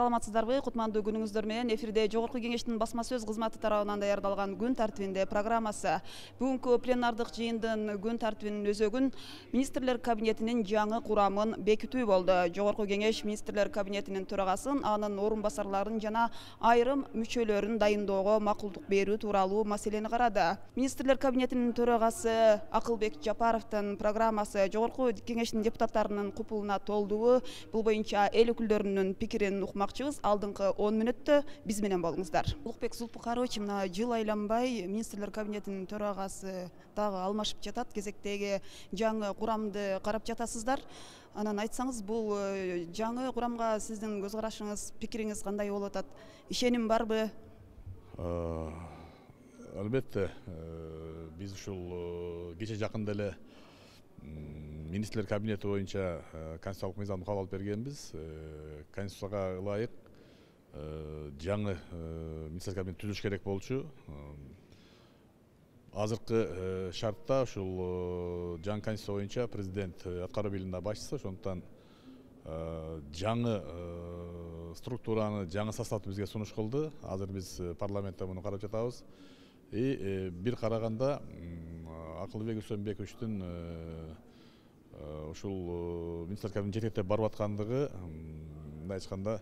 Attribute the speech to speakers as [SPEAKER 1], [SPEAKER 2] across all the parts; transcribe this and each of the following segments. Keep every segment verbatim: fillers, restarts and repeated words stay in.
[SPEAKER 1] Саламатсыздарбы? Кутмандуу күнүңүздөр менен эфирде Жогорку Кеңештин басма сөз кызматы тарабынан даярдалган күн тартибинде программасы. Бүгүнкү пленардык жыйындын күн тартибинин өзөгүн министрлер кабинетинин жаңы курамын бекитүү болду. Жогорку Кеңеш министрлер кабинетинин төрагасын, анын орун басарларын жана айрым мүчөлөрүн дайындоого макулдук берүү тууралуу маселени карады. Министрлер кабинетинин төрагасы Акылбек Жапаровдун программасы Жогорку Кеңештин депутаттарынын купулуна толдуу. Бул боюнча эл өкүлдөрүнүн пикирин укмакчыбыз. Алдыңкы он мүнөттө биз менен болуңуздар. Улукбек Зулпукарович, мына жыл айланбай министрлер кабинетинин төрагасы дагы алмашып жатат. Кезектеги жаңы курамды карап жатасыздар. Анан айтсаңыз, бул жаңы курамга сиздин көз карашыңыз, пикириңиз кандай болуп атат? Ишеним барбы?
[SPEAKER 2] Албетте, биз ушул кече жакында эле министрлер кабинети боюнча конституциялык мыйзамды кабыл алып бергенбиз. Конституцияга ылайык жаңы министрлер кабинет түзүлүш керек болчу. Азыркы шартта ушул жаңы конституция боюнча президент аткаруу бийлигинин башчысы, ошондуктан жаңы структураны, жаңы составды бизге сунуш кылды. Азыр биз парламентте муну карап жатабыз. И бир караганда Акылбек Үсөнбековичтин ушул министрлер кабинет жетектеп барып аткандыгы, мындай айтканда,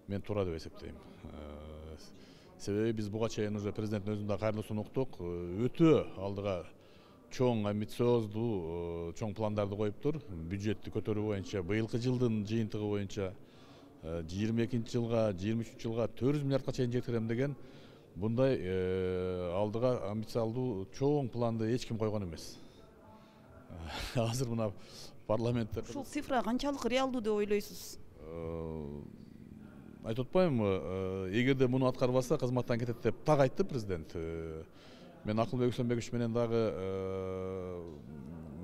[SPEAKER 2] мен туура деп эсептейм. Себеби биз буга чейин уже президенттин өзүн да кайрылуусун уктук. Өтө алдыга чоң, амбициоздуу, чоң пландарды коюптур. Бюджетти көтөрүү боюнча быйылкы жылдын жыйынтыгы боюнча жыйырма экинчи жылга, жыйырма үчүнчү жылга төрт жүз миллиардка чейин жеткирем деген bunday aldıga ambisiялуу чоң планды эч ким койгон эмес. Азыр мына парламентте
[SPEAKER 1] ушул цифра канчалык реалдуу деп ойлойсуз?
[SPEAKER 2] Айтып атпаймынбы, эгерде муну аткарбаса кызматтан кетет деп так айтты президент. Мен Акылбек Үсөнбекович менен дагы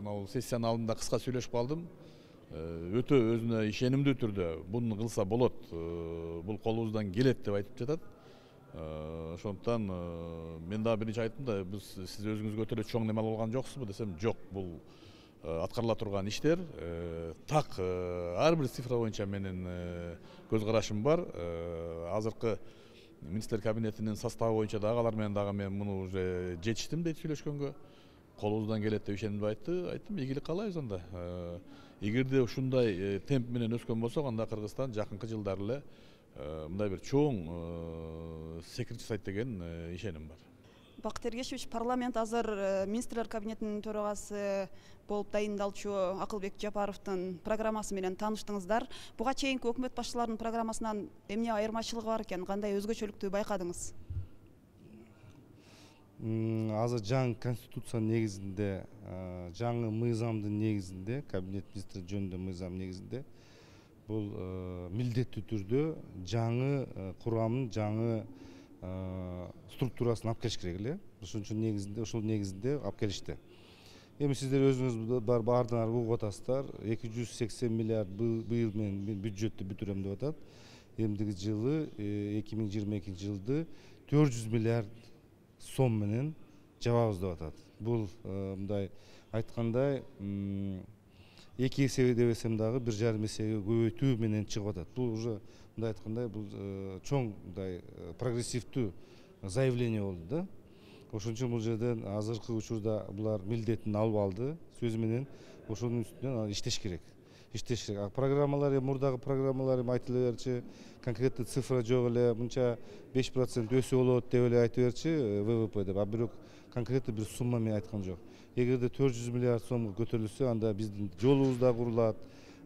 [SPEAKER 2] мына сессиянын алдында кыска сүйлөшүп калдым. Өтө өзүнө ишенимдүү түрдө буну кылса болот, бул колубуздан келет деп айтып жатат. Ошондуктан мен дагы биринчи айттым да, биз сиз өзүңүзгө өтө эле чоң неме алган жоксузбу десем, жок, бул аткарыла турган иштер. Так, ар бир цифра боюнча менин көз карашым бар. Азыркы министрлер кабинетинин составы боюнча дагы алар менен дагы мен муну уже жетиштим дейт сүйлөшкөнгө. Колубуздан келет деп ишенимдүү айтты. Айттым, ийгилик каалайбыз анда. Эгерде ушундай темп менен өскөн болсок, анда Кыргызстан жакынкы жылдары эле мындай бир чоң секирip жасайт деген ишеним бар.
[SPEAKER 1] Бакыт Эргешевич, парламент азыр министрлер кабинетинин төрагасы болуп дайындалчу Акылбек Жапаровдун программасы менен тааныштыңыздар. Буга чейинки өкмөт башчыларынын программасынан эмне айырмачылыгы бар экен? Кандай өзгөчөлүктү байкадыңыз?
[SPEAKER 3] Азыр жаңы конституциянын негизинде, жаңы мыйзамдын негизинде, кабинет министри жөнүндө мыйзам негизинде бул милдеттүү түрдө жаңы курамдын жаңы структурасын алып келиш керек эле. Ошон үчүн негизинде, ушул негизинде алып келишти. Эми сиздер өзүңүз бар баардыгыңар угуп атасыздар. эки жүз сексен миллиард быйыл менен бюджетти бүтүрөм деп атат. Эмдиги жылы эки миң жыйырма экинчи жылды төрт жүз миллиард сом менен жабабыз деп атат. Бул мындай айткандай эки эсе деп эсем дагы бир жарым эсеге көбөйтүү менен чыгып атат. Бул уже мындай айткандай бул чоң мындай прогрессивдүү заявление болду да. Ошон үчүн бул жерден азыркы учурда булар милдетин алып алды. Сөзү менен ошонун үстүнөн иштеш керек. Иштеш керек. Программалар, мурдагы программалар эми айтыла берчи, конкреттүү цифра жок эле, мынча беш процент өсүү болот деп эле айтып берчи вэ вэ пэ деп. А бирок конкреттүү бир сумма менен айткан жок. Эгерде төрт жүз миллиард сомго көтөрүлсө, анда биздин жолубуз да курулат,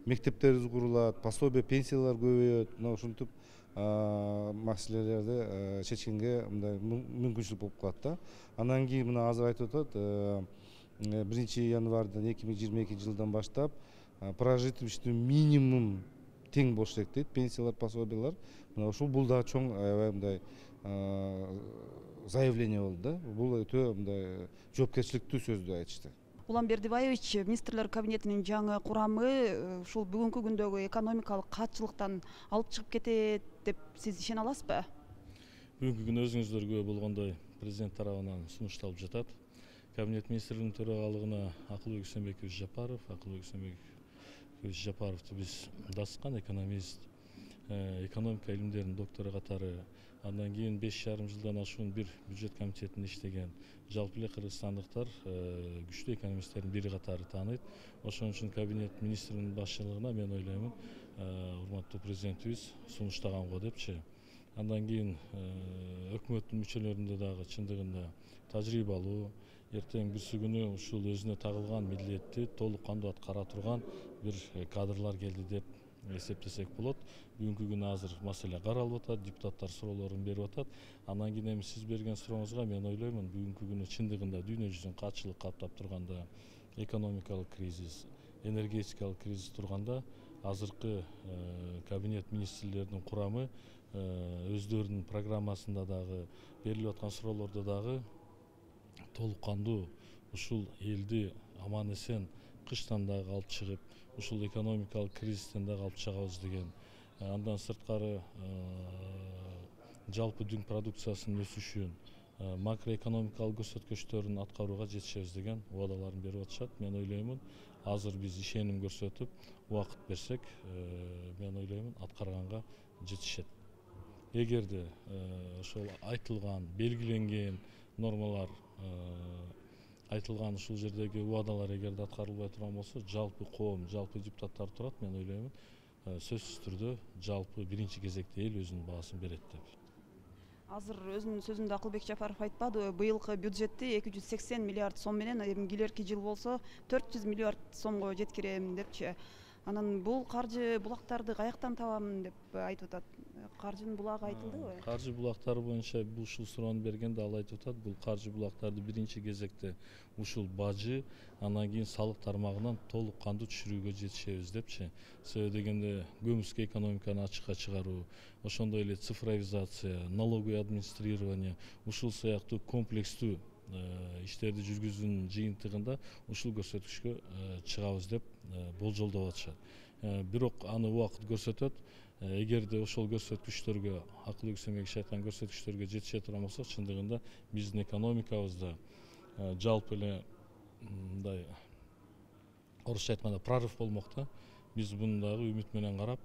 [SPEAKER 3] мектептерибиз курулат, пособие, пенсиялар көбөйөт. Мына ушинтип маселелерди чечкенге мындай мүмкүнчүлүк болуп калат да. Андан кийин мына азыр айтып атат, биринчи январдан эки миң жыйырма экинчи жылдан баштап прожиточный минимум тең болуш керек дейт, пенсиялар, пособиялар. Мына ушул бул да чоң аябай мындай заявление болду да. Бул өтө мындай жоопкерчиликтүү сөздү айтышты.
[SPEAKER 1] Улан Бердибаевич, министрлер кабинетинин жаңы курамы ушул бүгүнкү күндөгү экономикалык катчылыктан алып чыгып кетет деп сиз ишене аласызбы?
[SPEAKER 4] Бүгүнкү күнү өзүңүздөр күбө болгондой президент тарабынан сунушталып жатат. Кабинет министрлигинин төрагалыгына Акылбек Үсөнбекович Жапаров, Акылбек Үсөнбекович Жапаровду биз дасыккан экономист, экономика илимдеринин доктору катары. Андан кийин беш жарым жылдан ашуун бир бюджет комитетинде иштеген жалпы эле кыргызстандыктар күчтүү экономисттердин бири катары тааныйт. Ошон үчүн кабинет министринин башчылыгына мен ойлоймун урматтуу президентибиз сунуштаганго депчи. Андан кийин өкмөттүн мүчөлөрүндө дагы чындыгында тажрыйбалуу, эртең бирси күнү ушул өзүнө тагылган милдетти толук кандуу аткара турган бир кадрлар келди деп эсептесек болот. Бүгүнкү күнү азыр маселе каралып атат, депутаттар суроолорун берип атат. Андан кийин эми сиз берген сурооңузга мен ойлоймун, бүгүнкү күнү чындыгында дүйнө жүзүн катчылык каптап турганда, экономикалык кризис, энергетикалык кризис турганда, азыркы кабинет министрлеринин курамы өздөрүнүн программасында дагы берилип аткан суроолордо дагы толук кандуу ушул элди аман эсен кыштан дагы алып чыгып, ушул экономикалык кризистен дагы алып чыгабыз деген. Андан сырткары жалпы дүң продукциясынын өсүшүн, макроэкономикалык көрсөткүчтөрүн аткарууга жетишебиз деген убадаларын берип атышат. Мен ойлоймун, азыр биз ишеним көрсөтүп, убакыт берсек, мен ойлоймун, аткарганга жетишет. Эгерде ошол айтылган, белгиленген нормалар, айтылган ушул жердеги убадалар эгерде аткарылбай турган болсо, жалпы коом, жалпы депутаттар турат, мен ойлоймун, сөзсүз түрдө жалпы биринчи кезекте эл өзүнүн баасын берет деп.
[SPEAKER 1] Азыр өзүнүн сөзүндө Акылбек Жапаров айтпадыбы, быйылкы бюджетти эки жүз сексен миллиард сом менен, эми келерки жыл болсо төрт жүз миллиард сомго жеткирем депчи. Анан бул каржы булактарды каяктан табамын деп айтып атат. Каржынын булагы айтылдыбы?
[SPEAKER 4] Каржы булактары боюнча бул ушул суроону бергенде ал айтып атат, бул каржы булактарды биринчи кезекте ушул бажы, андан кийин салык тармагынан толук кандуу түшүрүүгө жетишебиз депчи. Себеби дегенде көмүскө экономиканы ачыкка чыгаруу, ошондой эле цифровизация, налоговый администрирование, ушул сыяктуу комплекстүү иштерди жүргүзүүнүн жыйынтыгында ушул көрсөткүчкө чыгабыз деп болжолдоп атышат. Бирок аны убакыт көрсөтөт. Эгерде ошол көрсөткүчтөргө, Акылбек Семегович айткан көрсөткүчтөргө жетише турган болсок, чындыгында биздин экономикабызда жалпы эле мындай орусча айтканда прорыв болмок да. Биз буну дагы үмүт менен карап,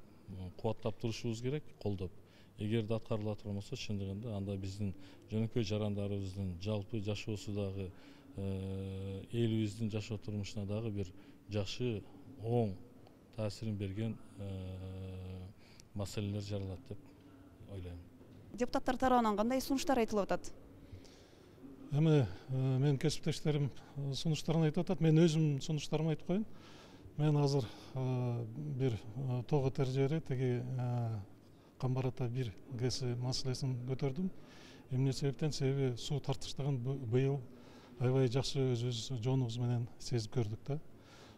[SPEAKER 4] кубаттап турушубуз керек, колдоп. Эгерде аткарыла турган болсо, чындыгында анда биздин жөнөкөй жарандарыбыздын жалпы жашоосундагы, элибиздин жашоо турмушуна дагы бир жакшы, оң таасирин берген маселелер жаралат деп ойлойм.
[SPEAKER 1] Депутаттар тарабынан кандай сунуштар айтылып атат?
[SPEAKER 5] Эми менин кесиптештерим сунуштарын айтып атат. Мен өзүм сунуштарымды айтып коеюн. Мен азыр бир тоо тержери теги Камбар ата бир ГЭС маселесин көтөрдүм. Эмне себептен? Себеби суу тартыштыгын быйыл аябай жакшы өзүбүз жоонубуз менен сезип көрдүк да.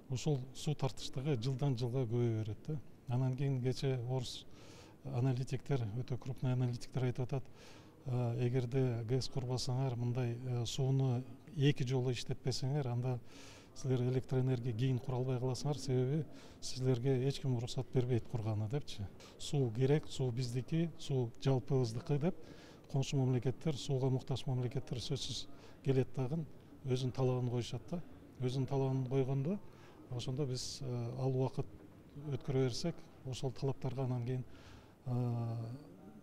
[SPEAKER 5] Ушул суу тартыштыгы жылдан жылга көбөйө берет да. Анан кийин кече орус аналитиктер, өтө крупный аналитиктер айтып атат, эгерде ГЭС курбасаңар, мындай сууну эки жолу иштетпесеңер, анда силер электроэнергия кийин кура албай каласыңар, себеби силерге эч ким уруксат бербейт курганы депчи. Суу керек, суу биздики, суу жалпыбыздыкы деп коңшу мамлекеттер, сууга муктаж мамлекеттер сөзсүз келет дагы өзүнүн талабын коюшат да. Өзүнүн талабын койгондо, ошондо биз ал убакыт өткөрө берсек, ошол талаптарга анан кийин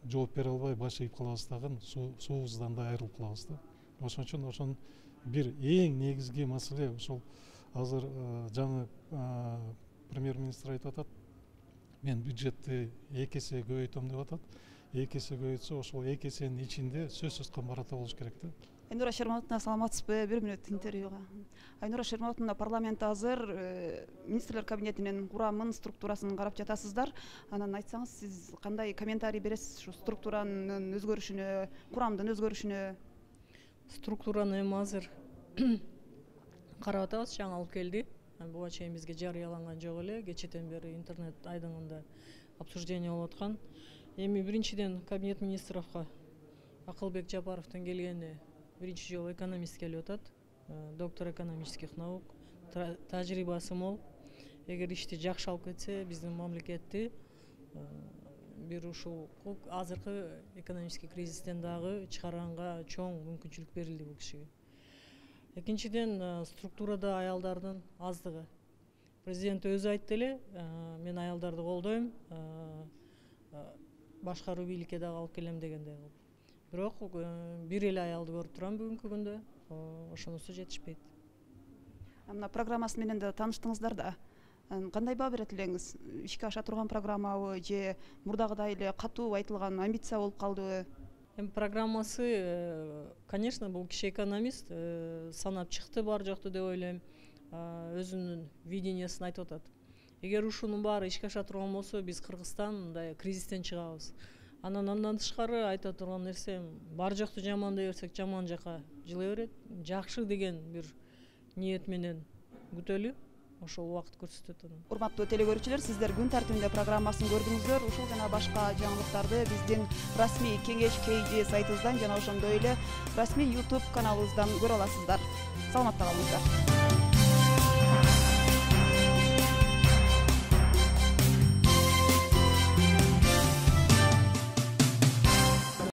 [SPEAKER 5] жооп бере албай баш ийип калабыз дагы, суубуздан да айрылып калабыз да. Ошон үчүн ошон бир эң негизги маселе ошол азыр жаңы премьер-министр айтып атат, мен бюджетти эки эсе көбөйтөм деп атат. эки эсе көбөйтсө, ошол эки эсенин ичинде сөзсүз Камбар ата болуш керек да.
[SPEAKER 1] Айнура Шерматовна, саламатсызбы? Бир мүнөт интервьюга. Айнура Шерматовна, парламент азыр министрлер кабинетинин курамын, структурасын карап жатасыздар. Анан айтсаңыз, сиз кандай комментарий бересиз ушу структуранын өзгөрүшүнө, курамдын өзгөрүшүнө?
[SPEAKER 6] Структураны эми азыр карап атабыз, жаңы алып келди. Буга чейин бизге жарыяланган жок эле, кечэтен бери интернет айдыңында обсуждение болуп аткан. Эми биринчиден кабинет министровго Акылбек Жапаровдун келгени биринчи жолу экономист келип атат, доктор экономических наук, тажрыйбасы мол. Эгер ишти жакшы алып кетсе, биздин мамлекетти бир ушул азыркы экономический кризистен дагы чыгарганга чоң мүмкүнчүлүк берилди бул кишиге. Экинчиден, структурада аялдардын аздыгы. Президент өзү айтты эле, мен аялдарды колдойм, башкаруу бийликке дагы алып келем дегендей кылып. Бирок бир эле аялды көрүп турам бүгүнкү күндө. Ошонусу жетишпейт.
[SPEAKER 1] Мына программасы менен да тааныштыңыздар да. Кандай баа берет элеңиз? Ишке аша турган программабы же мурдагыдай эле катуу айтылган амбиция болуп калдыбы?
[SPEAKER 6] Эми программасы, конечно, бул киши экономист, санап чыкты бар жокту деп ойлойм. Өзүнүн видениясын айтып атат. Эгер ушунун баары ишке аша турган болсо, биз Кыргызстан мындай кризистен чыгабыз. Анан андан тышкары айта турган нерсем, бар жокту жамандай берсек, жаман жака жылы берет. Жакшы деген бир ниет менен күтөлү. Ошол убакыт көрсөтөт аны.
[SPEAKER 1] Урматтуу теле көрүүчүлөр, сиздер күн тартибинде программасын көрдүңүздөр. Ушул жана башка жаңылыктарды биздин расмий кеңеш кей джи сайтыбыздан жана ошондой эле расмий YouTube каналыбыздан көрө аласыздар. Саламатта калыңыздар.